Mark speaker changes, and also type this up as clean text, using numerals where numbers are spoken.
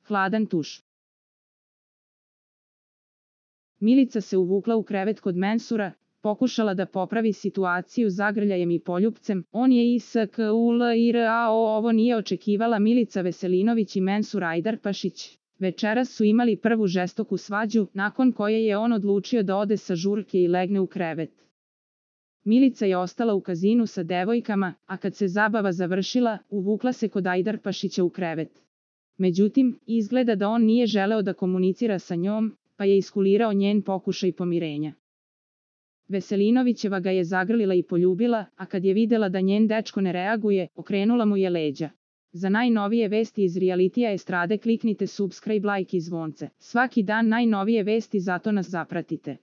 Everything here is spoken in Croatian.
Speaker 1: hladan tuš. Milica se uvukla u krevet kod Mensura, pokušala da popravi situaciju zagrljajem i poljupcem. On je ISKULIRAO, ovo nije očekivala Milica Veselinović i Mensur Ajdarpašić. Večeras su imali prvu žestoku svađu, nakon koje je on odlučio da ode sa žurke i legne u krevet. Milica je ostala u kazinu sa devojkama, a kad se zabava završila, uvukla se kod Ajdarpašića u krevet. Međutim, izgleda da on nije želeo da komunicira sa njom, pa je iskulirao njen pokušaj pomirenja. Veselinovićeva ga je zagrlila i poljubila, a kad je videla da njen dečko ne reaguje, okrenula mu je leđa. Za najnovije vesti iz realitija estrade kliknite subscribe, like i zvonce. Svaki dan najnovije vesti, zato nas zapratite.